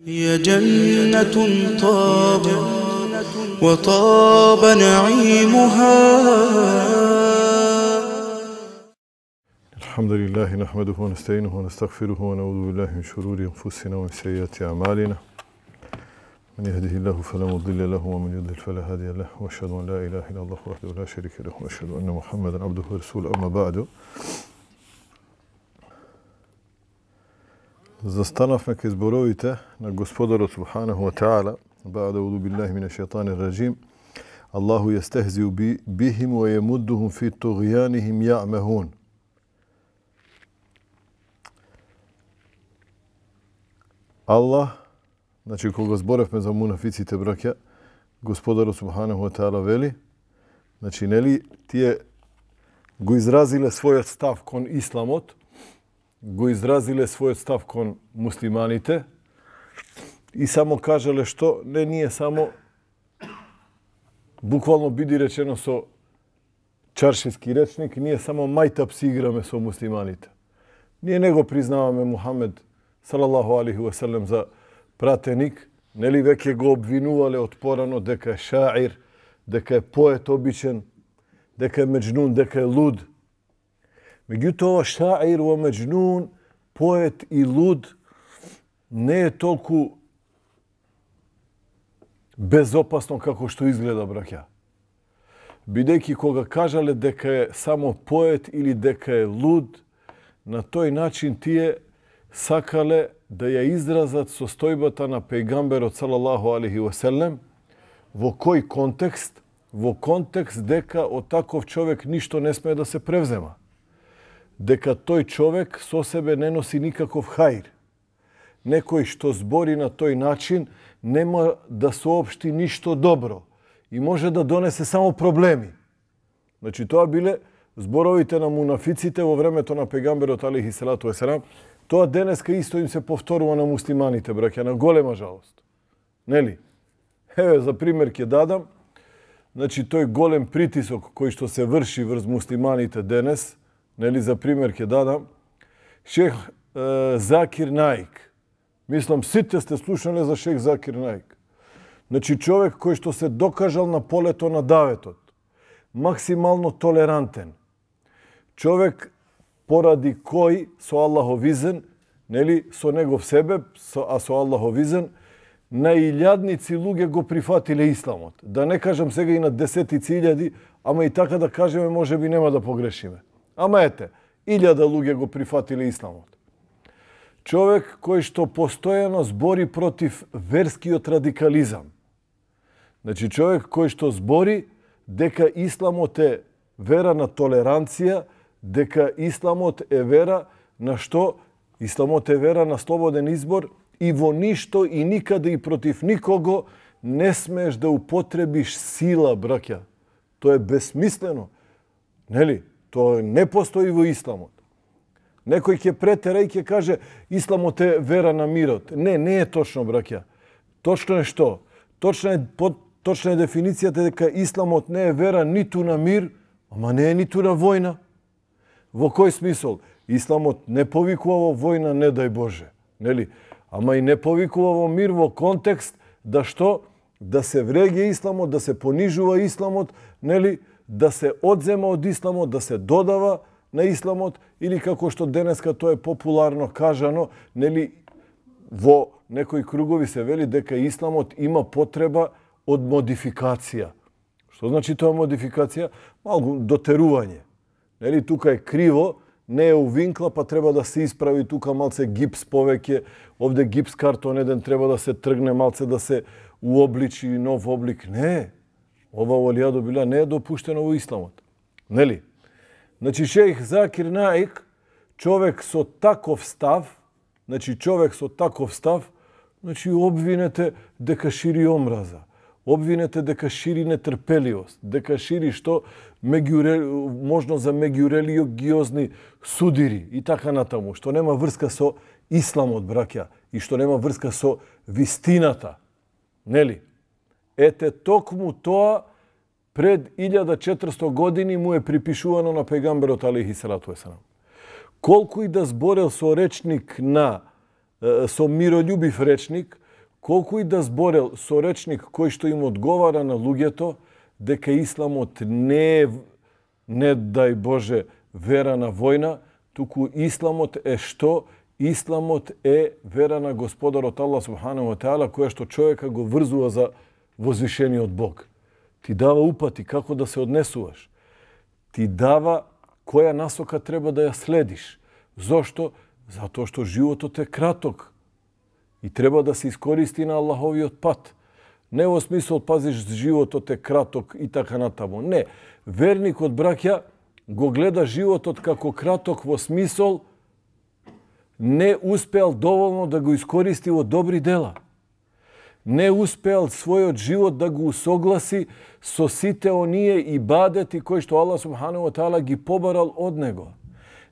هي جنة طاب وطاب نعيمها. الحمد لله نحمده ونستعينه ونستغفره ونعوذ بالله من شرور أنفسنا ومن سيئات أعمالنا. من يهده الله فلا مضل له ومن يضلل فلا هادي له وأشهد أن لا إله إلا الله وحده لا شريك له وأشهد أن محمدا عبده ورسوله. أما بعد. Застанавме кај зборовите на Господарот Субханаху ва Таала, ба'да аузу биллахи минеш шејтанир раџим. Аллаху јестехзиу бихим ва јемуддухум фи туғјанихим јаъмехун. Аллах, значи кога зборевме за мунафиците, браќа, Господарот Субханаху ва Таала вели, значи нели тие го изразиле својот став кон исламот, го изразиле својот став кон муслиманите и само кажале што не ние само, буквално биди речено со чаршиски речник, ние само мајтап си играме со муслиманите. Ние не го признаваме Мухамед салаллаху алейхи ва селем за пратеник, нели веќе го обвинувале од порано дека е шаир, дека е поет обичен, дека е меџнун, дека е луд. Меѓутоа, шаир во меџнун, поет и луд не е толку безопасно како што изгледа, браќа. Бидејќи кога кажале дека е само поет или дека е луд, на тој начин тие сакале да ја изразат состојбата на пејгамберот салаллаху алейхи ва селем. Во кој контекст? Во контекст дека од таков човек ништо не смее да се превзема. Дека тој човек со себе не носи никаков хаир. Некој што збори на тој начин нема да соопшти ништо добро и може да донесе само проблеми. Значи тоа биле зборовите на мунафиците во времето на пејгамберот алейхи салату ва селам. Тоа денеска исто им се повторува на муслиманите, браќа, на голема жалост. Нели? Еве за пример ќе дадам. Значи тој голем притисок кој што се врши врз муслиманите денес, нели за пример ќе дадам, Шех Закир Наик. Мислам, сите сте слушнале за Шех Закир Наик. Значи човек кој што се докажал на полето на даветот. Максимално толерантен. Човек поради кој со Аллаховизен, нели, со негов себеб, а со Аллаховизен, на илјадници луѓе го прифатиле исламот. Да не кажам сега и на десетици илјади, ама и така да кажеме, може би нема да погрешиме. Ама ете, 1000 луѓе го прифатиле исламот. Човек кој што постојано збори против верскиот радикализам. Значи човек кој што збори дека исламот е вера на толеранција, дека исламот е вера на што? Исламот е вера на слободен избор и во ништо и никаде и против никого не смееш да употребиш сила, браќа. Тоа е безсмислено. Нели? Тоа не постои во исламот. Некој ќе претера и ќе каже исламот е вера на мирот. Не е точно, браќа. Точно е што? Точна е дефиницијата дека исламот не е вера ниту на мир, ама не е ниту на војна. Во кој смисол? Исламот не повикува во војна, не дај Боже. Нели? Ама и не повикува во мир во контекст да што? Да се вреѓа исламот, да се понижува исламот, нели? Да се одзема од исламот, да се додава на исламот, или како што денеска тоа е популарно кажано, нели, во некои кругови се вели дека исламот има потреба од модификација. Што значи тоа модификација? Малку дотерување. Нели, тука е криво, не е увинкла, па треба да се исправи тука малце гипс повеќе, овде гипс картон еден треба да се тргне малце, да се уобличи нов облик. Не, ова олијадо била не е допуштено во исламот. Нели? Значи Шех Закир Наик, човек со таков став, значи обвинете дека шири омраза, обвинете дека шири нетрпеливост, дека шири што можно за меѓурелигиозни судири и така натаму, што нема врска со исламот, браќа, и што нема врска со вистината. Нели? Ете, токму тоа пред 1400 години му е припишувано на пејгамберот алейхи салату ва селам. Колку и да зборел со речник со миролюбив речник, колку и да зборел со речник кој што им одговара на луѓето, дека исламот не е, не дај Боже, вера на војна, туку исламот е што? Исламот е вера на Господарот Аллах субханаху ва таала, која што човека го врзува за возвишениот Бог. Ти дава упати како да се однесуваш. Ти дава која насока треба да ја следиш. Зошто? Затоа што животот е краток и треба да се искористи на Аллаховиот пат. Не во смисол пазиш животот е краток и така натаму. Не. Верникот, браќа, го гледа животот како краток во смисол не успеал доволно да го искористи во добри дела. Не успеал својот живот да го усогласи со сите оние ибадети кои што Аллах субханаху ва таала ги побарал од него.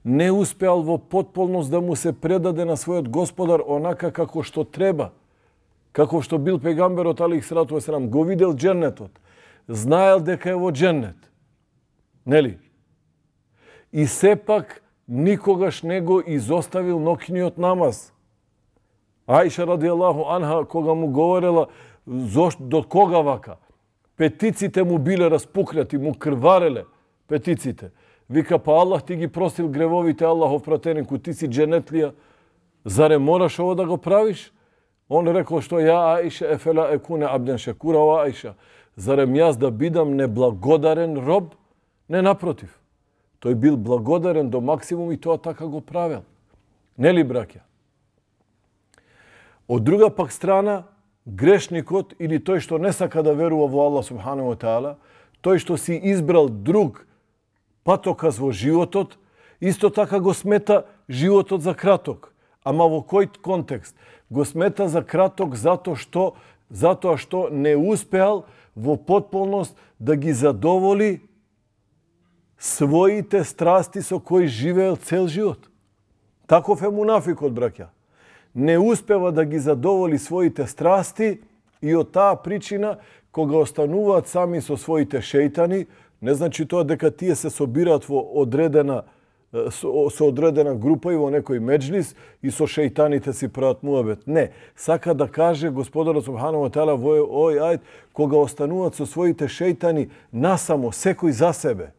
Не успеал во потполност да му се предаде на својот Господар онака како што треба. Како што бил пегамберот алейхиссалату ва селам, го видел џеннетот, знаел дека е во џеннет. Нели? И сепак никогаш не го изоставил ноќниот намаз. Аиша радијаллаху анха, кога му говорела до кога вака, петиците му биле распукнати, му крвареле петиците. Вика, па Аллах ти ги простил гревовите, Аллахов пратенику, ти си џенетлија, заре мораш ово да го правиш? Он рекол што ја Аиша ефела екуне абден шекура, о Аиша, зарем јас да бидам неблагодарен роб? Не, напротив. Тој бил благодарен до максимум и тоа така го правел. Нели, браќа? Од друга пак страна, грешникот или тој што не сака да верува во Аллах субханаху ва таала, тој што си избрал друг патоказ во животот, исто така го смета животот за краток. Ама во кој контекст? Го смета за краток затоа што не успеал во потполност да ги задоволи своите страсти со кои живеел цел живот. Таков е мунафикот, браќа. Не успева да ги задоволи своите страсти и од таа причина, кога остануваат сами со своите шејтани, не значи тоа дека тие се собираат во со одредена група и во некој меджлис и со шејтаните си прават муабет. Не, сака да каже Господарот субханаху ва таала во овој ајет, кога остануваат со своите шејтани насамо, секој за себе.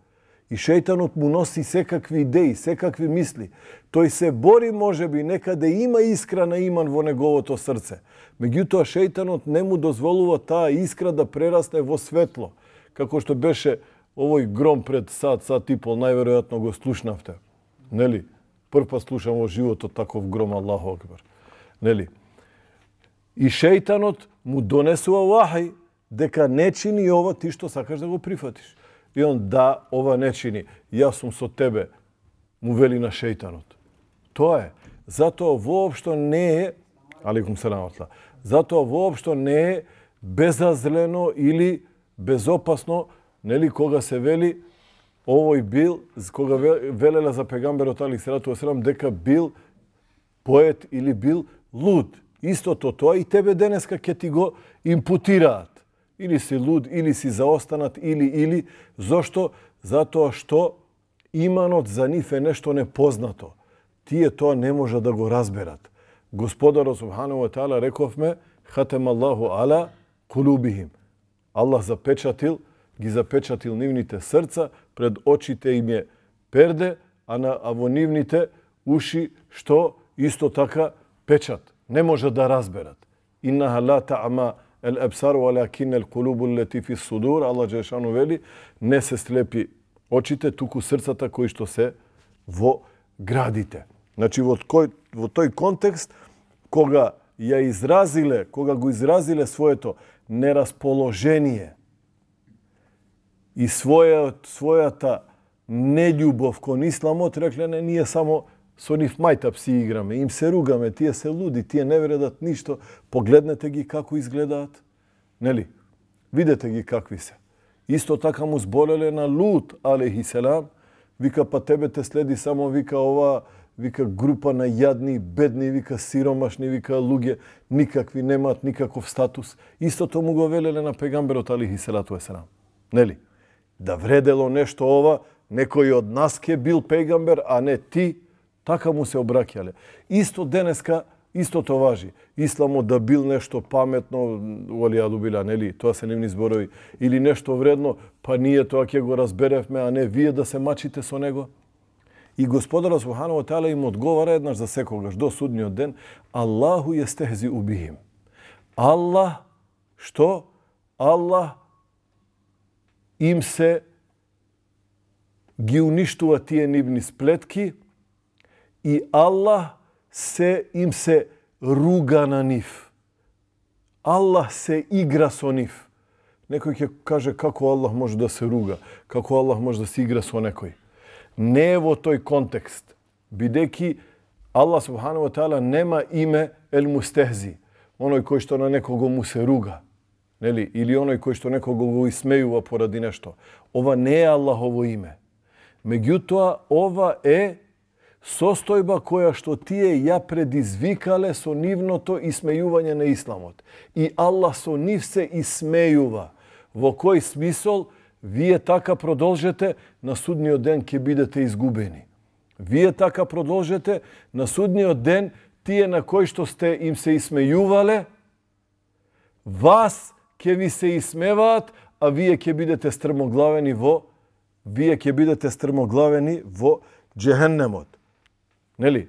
И шејтанот му носи секакви идеи, секакви мисли. Тој се бори, можеби, некаде има искра на иман во неговото срце. Меѓутоа, шејтанот не му дозволува таа искра да прерасне во светло. Како што беше овој гром пред сат и пол, најверојатно го слушнавте. Нели? Прв слушам во животот таков гром, Аллаху акбар. Нели? И шејтанот му донесува вахај дека не чини ова ти што сакаш да го прифатиш. И он, да, ова не чини, јас сум со тебе, му вели на шејтанот. Тоа е. Затоа воопшто не е, алейкум селам, затоа воопшто не е безазлено или безопасно, нели, кога се вели овој бил, кога велела за пегамберот алейхиссалату ва селам дека бил поет или бил луд. Истото тоа и тебе денеска ќе ти го импутираат. Или си луд, или си заостанат, или. Зошто? Затоа што иманот за нив е нешто непознато. Тие тоа не може да го разберат. Господарот субханаху ва таала, рековме, хатем Аллаху ала кулубихим. Аллах ги запечатил нивните срца, пред очите им е перде, а во нивните уши што исто така печат. Не може да разберат. Иннаха ла та'ма el-absar walakin el-qulubu allati fi as-sudur, Аллах џелешану вели, не се слепи очите, туку срцата кои што се во градите. Значи во тој контекст, кога го изразиле своето нерасположение и својата нељубов кон исламот, рекле, не, ние само со нив мајтап си играме, им се ругаме, тие се луди, тие не вредат ништо, погледнете ги како изгледаат. Нели? Видете ги какви се. Исто така му збореле на Лут, алейхиселам, вика, па тебе те следи само, вика, ова, вика, група на јадни, бедни, вика, сиромашни, вика, луѓе, никакви, немаат никаков статус. Истото му го велеле на пегамберот, алейхиселату веселам. Нели? Да вредело нешто ова, некој од нас ке бил пегамбер, а не ти, така му се обраќале. Исто Исто то важи. Исламот да бил нешто паметно, валијаду била, нели, тоа се нивни зборови, или нешто вредно, па ние тоа ќе го разберевме, а не вие да се мачите со него. И Господар Субханаху ва Таала им одговара еднаш за секогаш до судниот ден: Аллаху јестехзи убихим. Аллах, што? Аллах им се ги уништува тие нивни сплетки и Аллах им се руга на нив. Аллах се игра со нив. Некој ќе каже како Аллах може да се руга, како Аллах може да се игра со некој. Не е во тој контекст, бидејќи Аллах Субханаху ва Таала нема име ел мустехзи, оној кој што на некого му се руга, нели, или оној кој што некого го исмејува поради нешто. Ова не е Аллахово име. Меѓутоа, ова е состојба која што тие ја предизвикале со нивното исмејување на исламот. И Аллах со нив се исмејува. Во кој смисол? Вие така продолжете, на судниот ден ќе бидете изгубени. Вие така продолжете, на судниот ден тие на кои што сте им се исмејувале, вас ќе ви се исмеваат, а вие ќе бидете стрмоглавени во џехеннемот. Нели?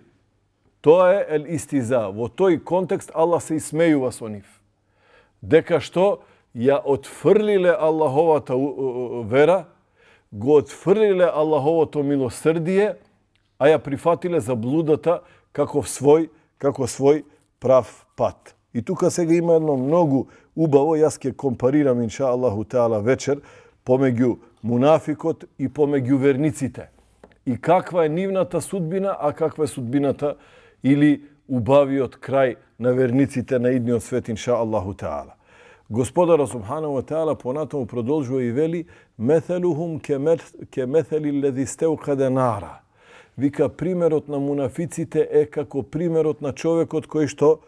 Тоа е ел истиза. Во тој контекст Аллах се исмејува со нив. Дека што ја отфрлиле Аллаховата вера, го отфрлиле Аллаховото милосрдие, а ја прифатиле заблудата како свој прав пат. И тука сега има едно многу убаво, јас ќе компарирам инша Аллаху Теала вечер помеѓу мунафикот и помеѓу верниците. И каква е нивната судбина, а каква е судбината или убавиот крај на верниците на идниот свет, инша Аллаху Теала. Господар Субханаху ва Таала понатаму продолжува и вели: "Метелухум ке метели лези стеукаде нара." Вика, примерот на мунафиците е како примерот на човекот кој што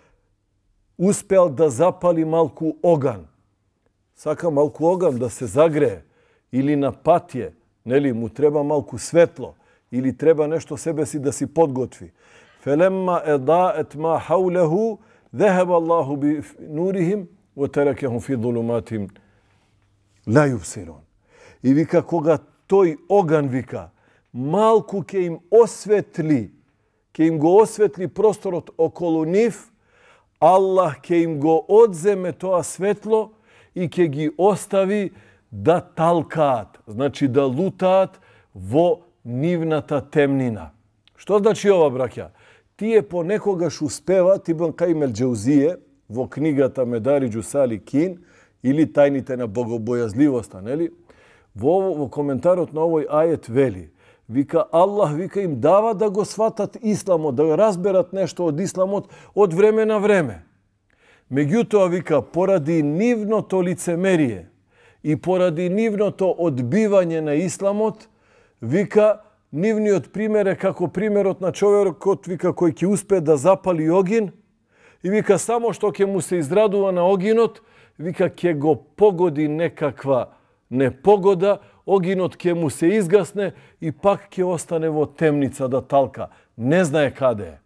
успел да запали малку оган. Сака малку оган да се загрее, или на патје, нели, му треба малку светло, или треба нешто себе си да си подготви. Фелемма едает ма хаулеху, зехеб Аллаху би нурихим, wa tarakahum fi dhulumatin la yubsirun. И вика, кога тој оган, вика, малку ќе им осветли, ќе им го осветли просторот околу нив, Аллах ќе им го одземе тоа светло и ќе ги остави да талкаат, значи да лутаат во нивната темнина. Што значи ова, браќа? Тие понекогаш успеваат, Ибн Каим ел Џаузие во книгата Медариџу Саликин или тајните на богобојазливоста, нели? Во коментарот на овој ајет вели, вика, Аллах, вика, им дава да го сватат исламот, да разберат нешто од исламот од време на време. Меѓутоа, вика, поради нивното лицемерие и поради нивното одбивање на исламот, вика, нивниот пример е како примерот на човекот, вика, кој ќе успее да запали огин, и вика, само што ќе му се израдува на огинот, вика, ќе го погоди некаква непогода, огинот ќе му се изгасне и пак ќе остане во темница да талка. Не знае каде е.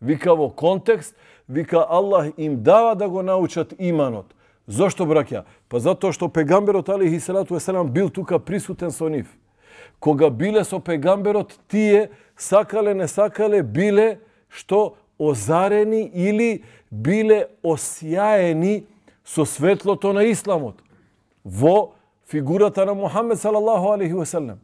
Вика, во контекст, вика, Аллах им дава да го научат иманот. Зошто, браќа? Па затоа што пегамберот алейхи салату веселам бил тука присутен со нив. Кога биле со пегамберот, тие сакале, не сакале, биле што озарени или биле осјаени со светлото на исламот во фигурата на Мухамед салаллаху алейхи веселем.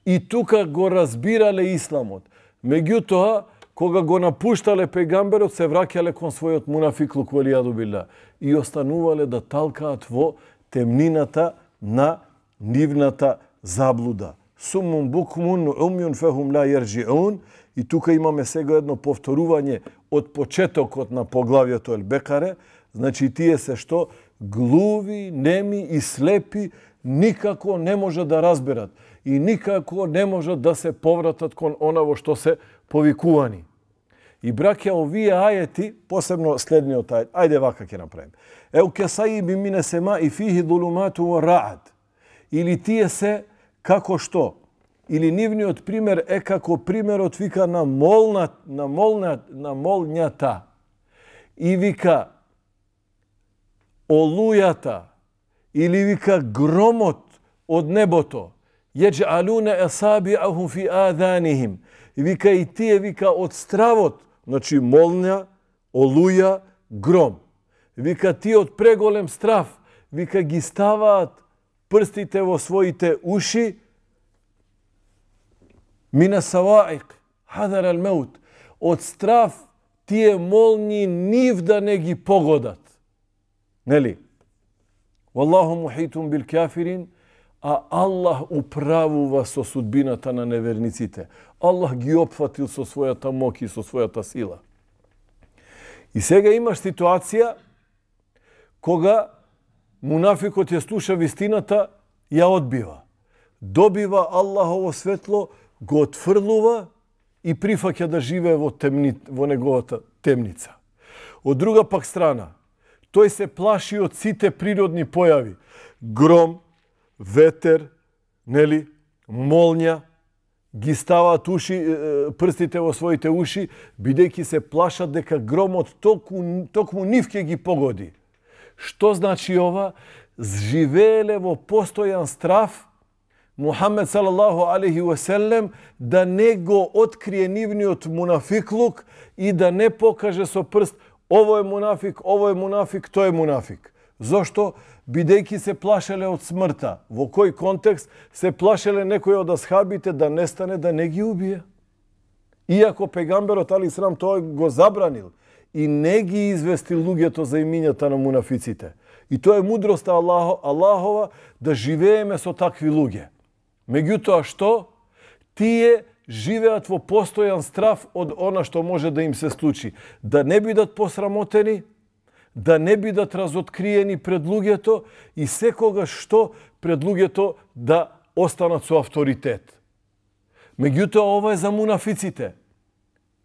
И тука го разбирале исламот. Меѓутоа, кога го напуштале пегамберот, се враќале кон својот мунафиклук валијаду билла и останувале да талкаат во темнината на нивната заблуда. Суммун букмун умјун фехум ла јерджиун. И тука имаме сега едно повторување од почетокот на поглавието Ел-Бекаре. Значи, тие се што глуви, неми и слепи никако не може да разберат и никако не може да се повратат кон она во што се повикувани. И браќа, овие ајети, посебно следниот ајет, ајде вака ќе направим. Еу кесајиби мине сема и фихи дулумату ва раат. Или тие се како што? Или нивниот пример е како примерот, вика, на молњата. и вика олујата или вика громот од небото, јеџалуна асаби'ахум фи аданихим, и вика и тие вика од стравот, значи молња, олуја, гром. Вика тие од преголем страв, вика ги ставаат прстите во своите уши, мина саваиq, хадар ал маут, од страв тие молњи нив да не ги погодат. Нели? Валлаху мухитун бил кафирин, а Аллах управува со судбината на неверниците. Аллах ги опфатил со својата моќ и со својата сила. И сега имаш ситуација кога мунафикот ја слуша вистината, ја одбива. Добива Аллахово светло, го отфрлува и прифаќа да живее во неговата темница. Од друга пак страна, тој се плаши од сите природни појави. Гром, ветер, нели, молња, ги ставаат прстите во своите уши, бидејќи се плашат дека громот токму нив ќе ги погоди. Што значи ова? Живееле во постојан страв Мухамед салаллаху алейхи ва селем да не го открие нивниот мунафиклук и да не покаже со прст ово е мунафик, тој е мунафик. Зошто? Бидејќи се плашеле од смртта. Во кој контекст? Се плашеле некој од асхабите да нестане, да не ги убие. Иако пегамберот алейхиссалам тоа го забранил и не ги известил луѓето за имињата на мунафиците. И тоа е мудроста Аллахова да живееме со такви луѓе. Меѓутоа што? Тие живеат во постојан страв од она што може да им се случи. Да не бидат посрамотени, да не бидат разоткриени пред луѓето и секогаш што пред луѓето да останат со авторитет. Меѓутоа ова е за мунафиците.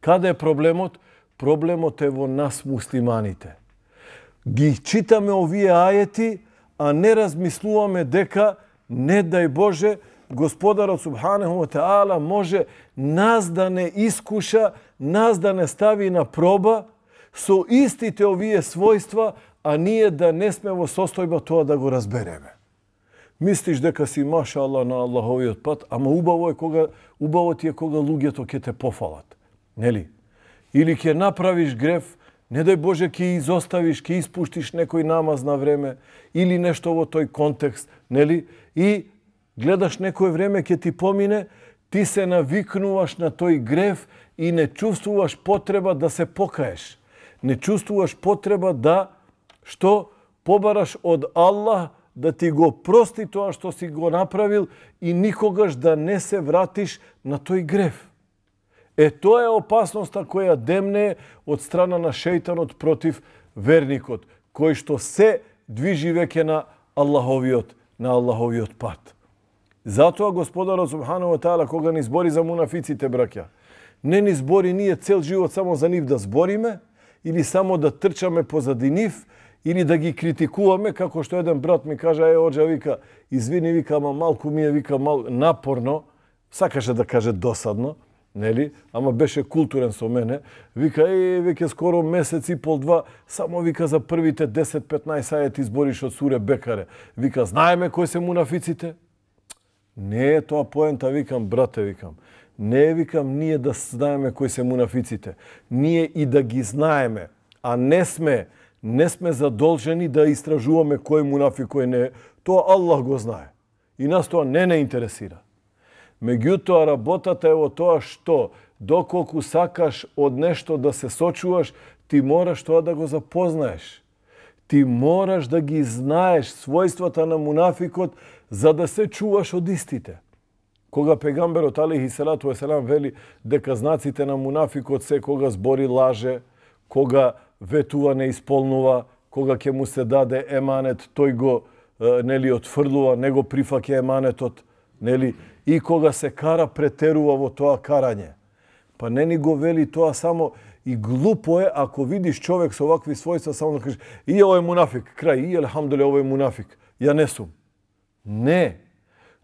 Каде е проблемот? Проблемот е во нас муслиманите. Ги читаме овие ајети, а не размислуваме дека, не дај Боже, Господарот Субханаху ва Таала може нас да не искуша, нас да не стави на проба со истите овие својства, а ние да не сме во состојба тоа да го разбереме. Мислиш дека си маша Аллах на Аллаховиот пат, ама убаво ти е кога луѓето ќе те пофалат. Нели? Или ќе направиш греф, не дај Боже ќе изоставиш, ќе испуштиш некој намаз на време, или нешто во тој контекст, нели? И гледаш некој време ќе ти помине, ти се навикнуваш на тој греф и не чувствуваш потреба да се покаеш. Не чувствуваш потреба да, што, побараш од Аллах да ти го прости тоа што си го направил и никогаш да не се вратиш на тој греф. Тоа е опасноста која демне од страна на шејтанот против верникот, кој што се движи веќе на Аллаховиот пат. Затоа Господарот Субхану ва Таала кога ни збори за мунафиците, браќа, не ни збори ние цел живот само за нив да збориме, или само да трчаме позади нив, или да ги критикуваме, како што еден брат ми кажа, оџа, вика, извини, вика, ама малку ми е, вика, напорно, сакаше да каже досадно, нели? Ама беше културен со мене. Вика, веќе скоро месец и пол-два, само вика за првите 10-15 ајети збориш од суре Бекаре. Вика, знаеме кои се мунафиците? Не е тоа поента, викам, брате, викам. Не викам ние да знаеме кои се мунафиците. Ние и да ги знаеме, а не сме задолжени да истражуваме кој мунафик, кој не е. Тоа Аллах го знае. И нас тоа не интересира. Меѓутоа, работата е во тоа што, доколку сакаш од нешто да се сочуваш, ти мораш тоа да го запознаеш. Ти мораш да ги знаеш својствата на мунафикот, за да се чуваш од истите. Кога пегамберот алейхи салату ва селам вели дека знаците на мунафикот се кога збори лаже, кога ветува не исполнува, кога ќе му се даде еманет, тој го нели отфрлува, не го прифаќа еманетот, нели, и кога се кара претерува во тоа карање. Па не ни го вели тоа само и глупо е ако видиш човек со овакви својства само да кажеш и овој мунафик, крај, и елхамдуле овој мунафик, ја не сум. Не.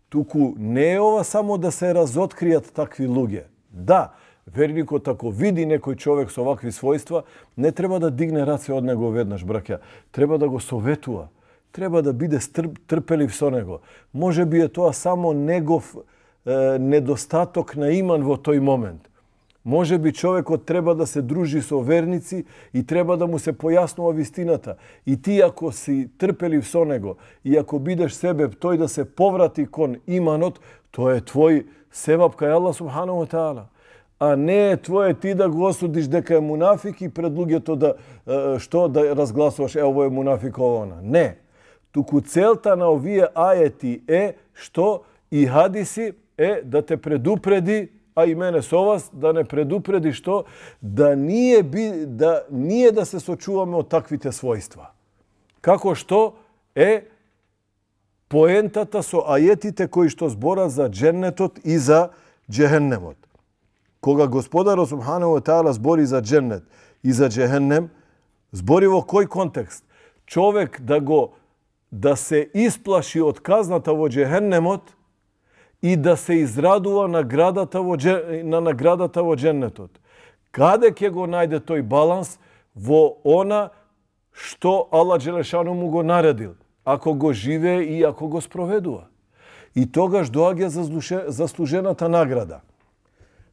Туку не е ова само да се разоткријат такви луѓе. Да, Верникот ако види некој човек со овакви својства, не треба да дигне раце од него веднаш, браќа. Треба да го советува. Треба да биде трпелив со него. Може би е тоа само негов недостаток на иман во тој момент. Може би човекот треба да се дружи со верници и треба да му се појаснува вистината. И ти ако си трпелив со него и ако бидеш себе тој да се поврати кон иманот, тоа е твој севап кај Аллах субханаху ва таала. А не е твое ти да го осудиш дека е мунафик и пред луѓето да разгласуваш ово е мунафик она. Не. Туку целта на овие ајети е што и хадиси е да те предупреди, а и мене со вас, да не предупреди што да ние да се сочуваме од таквите својства. Како што е поентата со ајетите кои што зборат за дженнетот и за джехеннемот. Кога Господарот субханаху ва таала збори за дженнет и за джехеннем, збори во кој контекст? Човек да се исплаши од казната во джехеннемот и да се израдува на наградата во дженнетот. Каде ќе го најде тој баланс? Во она што Аллах Джелешану му го наредил, ако го живее и ако го спроведува. И тогаш доаѓа заслужената награда.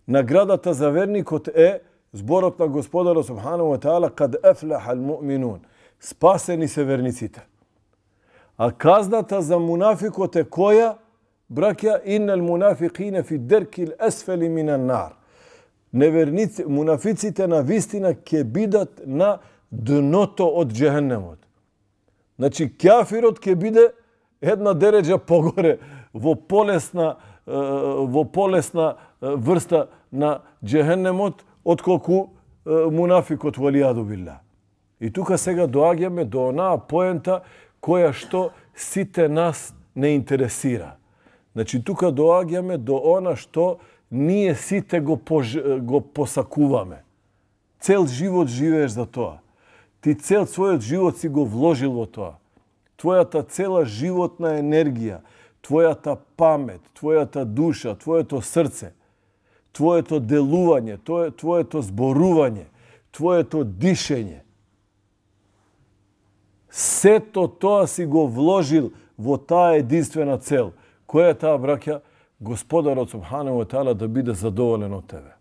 Наградата за верникот е зборот на Господарот субханаху ва таала кад ефлахал муъминун. Спасени се верниците. А казната за мунафикот е која? Браќа, иннал мунафикине фи деркил есфели минан нар. Неверници, мунафиците на вистина ќе бидат на дното од джехеннемот. Значи, кафирот ќе биде една дереđа погоре, во полесна врста на джехеннемот, отколку мунафикот валијаду билла. И тука сега доаѓаме до онаа поента која што сите нас не интересира. Значи, тука доаѓаме до она што ние сите го посакуваме. Цел живот живееш за тоа. Ти цел својот живот си го вложил во тоа. Твојата цела животна енергија, твојата памет, твојата душа, твоето срце, твоето делување, твоето зборување, твоето дишење. Сето тоа си го вложил во таа единствена цел. Која е таа, браќа? Господарот субханаху ва таала да биде задоволен од тебе.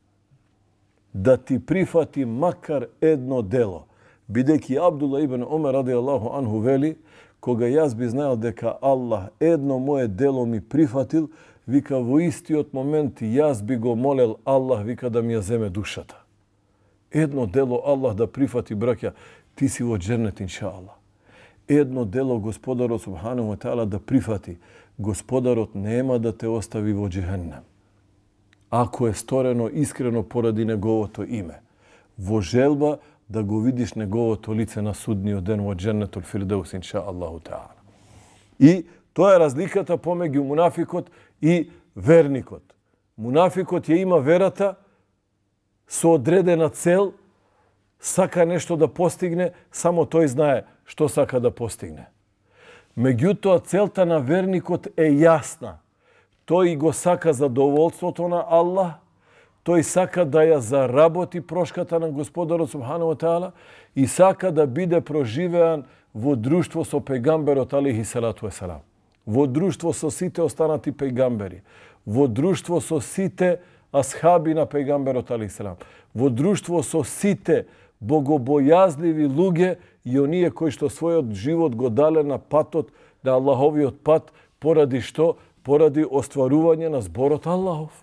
Да ти прифати макар едно дело. Бидејќи Абдулла ибн Омер радијаллаху анху вели, кога јас би знаел дека Аллах едно мое дело ми прифатил, вика во истиот момент јас би го молел Аллах, вика да ми ја земе душата. Едно дело Аллах да прифати, браќа, ти си во џеннет иншааллах. Едно дело Господарот субханаху ва таала да прифати, Господарот нема да те остави во џехеннем. Ако е сторено искрено поради неговото име, во желба да го видиш неговото лице на судниот ден во џеннетул фирдеус иншааллаху таала. И тоа е разликата помеѓу мунафикот и верникот. Мунафикот ја има верата со одредена цел, сака нешто да постигне, само тој знае што сака да постигне. Меѓутоа, целта на верникот е јасна. Тој го сака задоволството на Аллах, тој сака да ја заработи прошката на Господарот субханаху ва таала и сака да биде проживеан во друштво со пејгамберот алейхи салату ва салам. Во друштво со сите останати пејгамбери. Во друштво со сите асхаби на пејгамберот алейхи салам. Во друштво со сите богобојазливи луѓе и оние кои што својот живот го дале на патот, на Аллаховиот пат, поради што? Поради остварување на зборот Аллахов.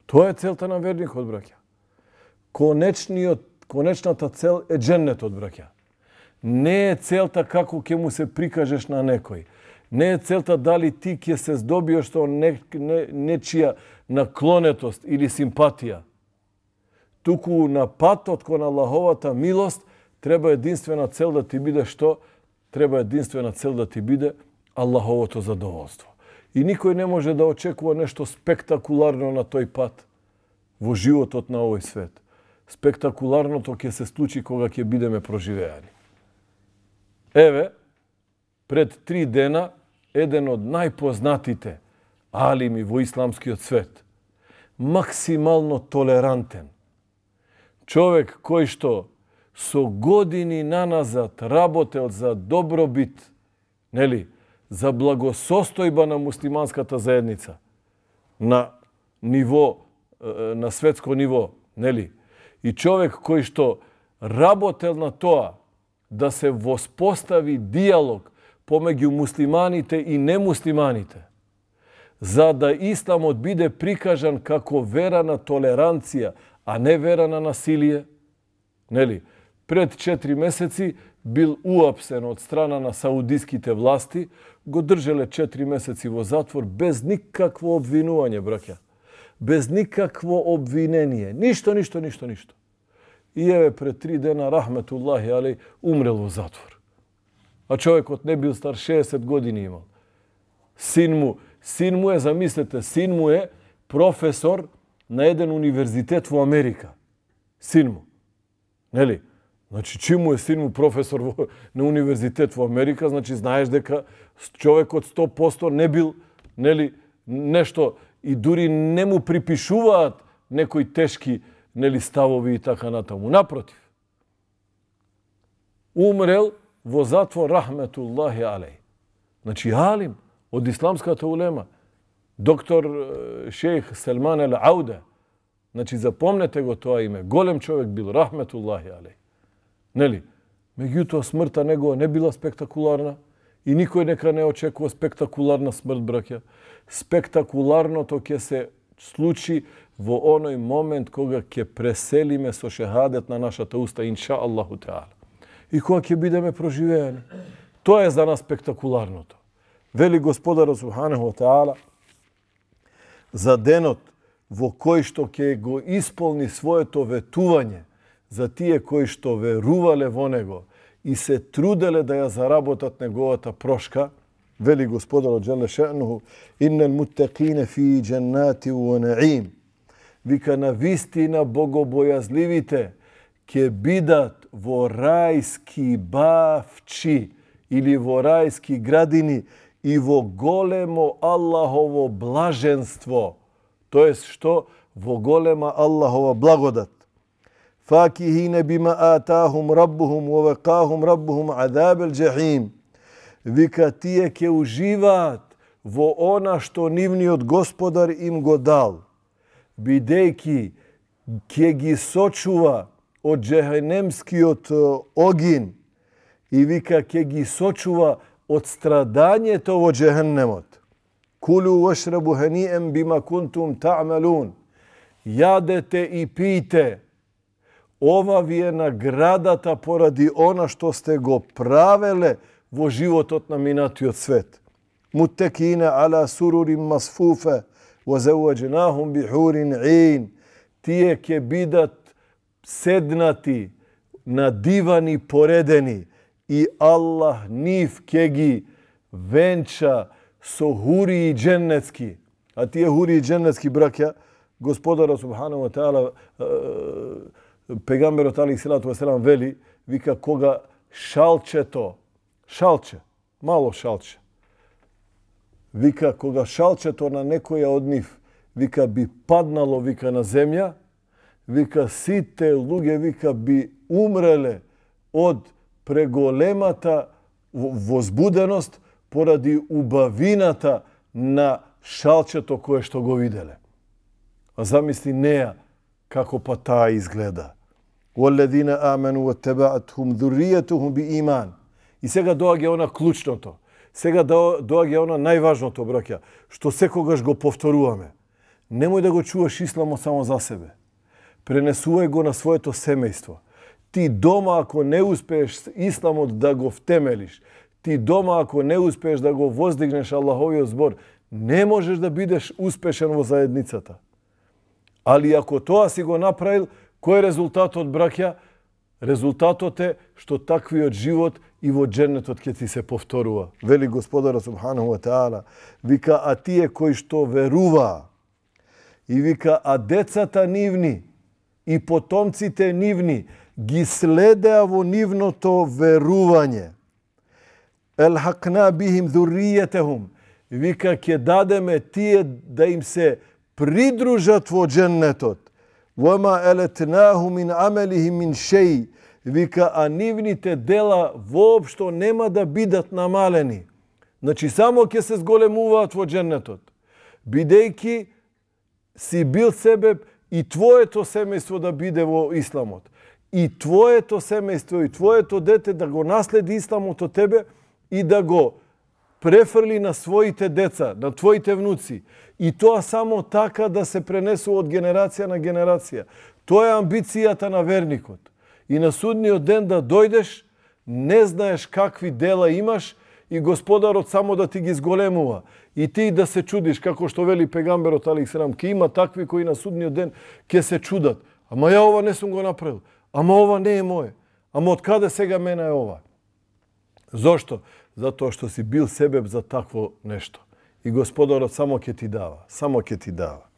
Тоа е целта на верникот, браќа. Конечната цел е џеннетот, браќа. Не е целта како ќе му се прикажеш на некој. Не е целта дали ти ќе се здобиеш со нечија наклонетост или симпатија. Туку на патот кон Аллаховата милост треба единствена цел да ти биде што? Треба единствена цел да ти биде Аллаховото задоволство. И никој не може да очекува нешто спектакуларно на тој пат во животот на овој свет. Спектакуларното ќе се случи кога ќе бидеме проживеани. Еве, пред 3 дена, еден од најпознатите алими во исламскиот свет, максимално толерантен. Човек кој што со години наназад работел за добробит, нели, за благосостојба на муслиманската заедница на ниво, на светско ниво, нели? И човек кој што работел на тоа да се воспостави диалог помеѓу муслиманите и немуслиманите, за да исламот биде прикажан како вера на толеранција, а не вера на насилие, нели? Пред 4 месеци бил уапсен од страна на саудиските власти, го држеле 4 месеци во затвор без никакво обвинување, браќа. Без никакво обвинение. Ништо. И еве пред 3 дена, рахметуллахи алей, умрел во затвор. А човекот не бил стар, 60 години имал. Син му е, замислете, син му е професор на еден универзитет во Америка. Син му. Нели? Значи, чим му е син му професор на универзитет во Америка, значи знаеш дека човекот 100% не бил, нели, нешто и дури не му припишуваат некои тешки, нели, ставови и така натаму. Напротив. Умрел во затвор, рахметуллахи алей. Значи, алим од исламската улема, доктор шејх Селман ел Ауде. Значи, запомнете го тоа име. Голем човек бил, рахметуллахи алей. Нели? Меѓутоа смртта негова не била спектакуларна и никој нека не очекува спектакуларна смрт, браќа. Спектакуларното ќе се случи во оној момент кога ќе преселиме со шехадет на нашата уста, инша Аллаху Теала. И кога ќе бидеме проживеани. Тоа е за нас спектакуларното. Вели Господарот Субханаху ва Теала за денот во кој што ќе го исполни своето ветување за тие кои што верувале во него и се труделе да ја заработат неговата прошка, вели Господарот Джеле Ше'нуху, иннел муттақине фи дженнати ва наим. Вика, на вистина богобојазливите ќе бидат во рајски бавчи или во рајски градини и во големо Аллахово блаженство. Тоест што? Во голема Аллахова благодат. Факихине бима атахум раббухум ва вакахум раббухум азабел джахим. Вика, тие ќе уживаат во она што нивниот Господар им го дал, бидејќи ќе ги сочува од джехенемскиот огин и вика ќе ги сочува од страдањето во джехенемот. Кулу вашрабу хани'ан бима кунтум та'малун. Јадете и пијте. Ова ви е наградата поради она што сте го правеле во животот на минатиот свет. Муттекина ала сурурин масфуфа ва заваджнахум бихурин ин. Тие ќе бидат седнати на дивани поредени и Аллах нив ќе ги венча со хури дженнетски. А тие хури дженнетски, браќа, Господарот Субханаху ва Теала, пегамберот алейхиссалату ва селам вели, вика, кога мало шалче, вика, кога шалчето на некоја од нив, вика, би паднало, вика, на земја, вика, сите луѓе, вика, би умреле од преголемата возбуденост поради убавината на шалчето кое што го виделе. А замисли неа како па таа изгледа. وَالَّذِينَ آمَنُوا وَاتَّبَعَتْهُمْ ذُرِّيَّتُهُمْ بِإِيمَانٍ. И сега доаѓа она клучното. Сега доаѓа она најважното, браќа, што секогаш го повторуваме. Немој да го чуваш исламот само за себе. Пренесувај го на своето семејство. Ти дома, ако не успееш исламот да го втемелиш, ти дома, ако не успееш да го воздигнеш Аллаховиот збор, не можеш да бидеш успешен во заедницата. Али ако тоа си го направил, кој е резултатот, браќа? Резултатот е што таквиот живот и во дженнетот ќе ти се повторува. Вели Господарот Субханаху ва Теала, вика, а тие кои што веруваа, и вика, а децата нивни и потомците нивни ги следеа во нивното верување. Елхакна бихим ذُرِّيَّتَهُمْ. Вика, ќе дадеме тие да им се придружат во дженнетот. وَمَا أَلَتْنَاهُ مِنْ عَمَلِهِ مِنْ شَيْءٍ. Вика, а нивните дела воопшто нема да бидат намалени. Значи, само ќе се зголемуваат во дженнетот. Бидејќи си бил себеб и твоето семејство да биде во исламот. И твоето семејство, и твоето дете да го наследи исламот од тебе и да го префрли на своите деца, на твоите внуци. И тоа само така да се пренесува од генерација на генерација. Тоа е амбицијата на верникот. И на судниот ден да дојдеш, не знаеш какви дела имаш и Господарот само да ти ги зголемува. И ти да се чудиш, како што вели пегамберот алейхиссалам, ке има такви кои на судниот ден ке се чудат. Ама ја ова не сум го направил. Ама ова не е мое. Ама од каде сега мене е ова? Зошто? Затоа што си бил себеб за такво нешто. И Господарот само ќе ти дава. Само ќе ти дава.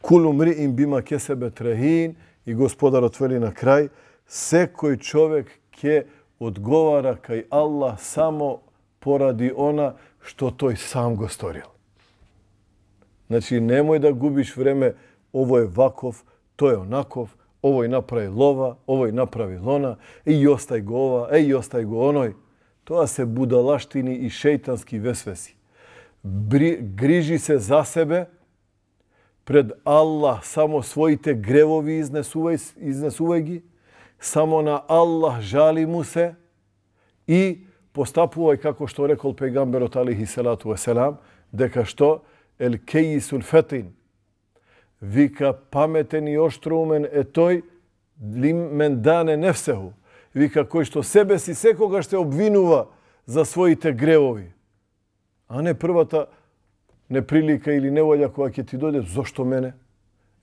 Кулу мриин бима кесебет рехин. И Господарот вели на крај, секој човек ќе одговара кај Аллах само поради она што тој сам го сторил. Значи, немој да губиш време, овој е ваков, тој е онаков, овој направи лова, овој направи лона, и остај го ова, и остај го оној. Тоа се будалаштини и шејтански весвеси. Грижи се за себе, пред Аллах само своите гревови изнесувај ги, само на Аллах жали му се и постапувај како што рекол пегамберот алейхиссалату веселам, дека што ел кејисул фетин. Вика, паметен и оштроумен е тој мен дане нефсеху. Вика, кој што себе си секогаш се обвинува за своите гревови. А не првата неприлика или неволја која ќе ти дојде, зошто мене?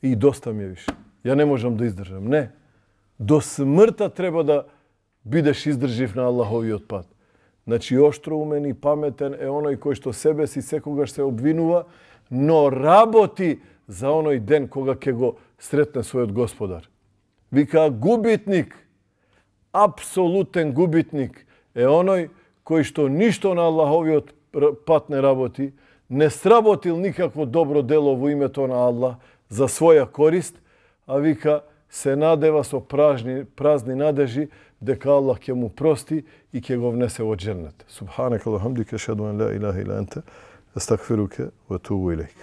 И доста ми е више. Ја не можам да издржам. Не. До смртта треба да бидеш издржив на Аллаховиот пат. Значи, оштроумен и паметен е оној кој што себе си секогаш се обвинува, но работи за оној ден кога ќе го сретне својот Господар. Вика, губитник, апсолутен губитник е оној кој што ништо на Аллаховиот пат не работи, не сработил никакво добро дело во името на Аллах за своја корист, а вика, се надева со празни надежи дека Аллах ќе му прости и ќе го внесе во дженнет. Субханека ва хамдика, ашхаду ан ла илаха ила анта, астагфирука ва атубу илейк.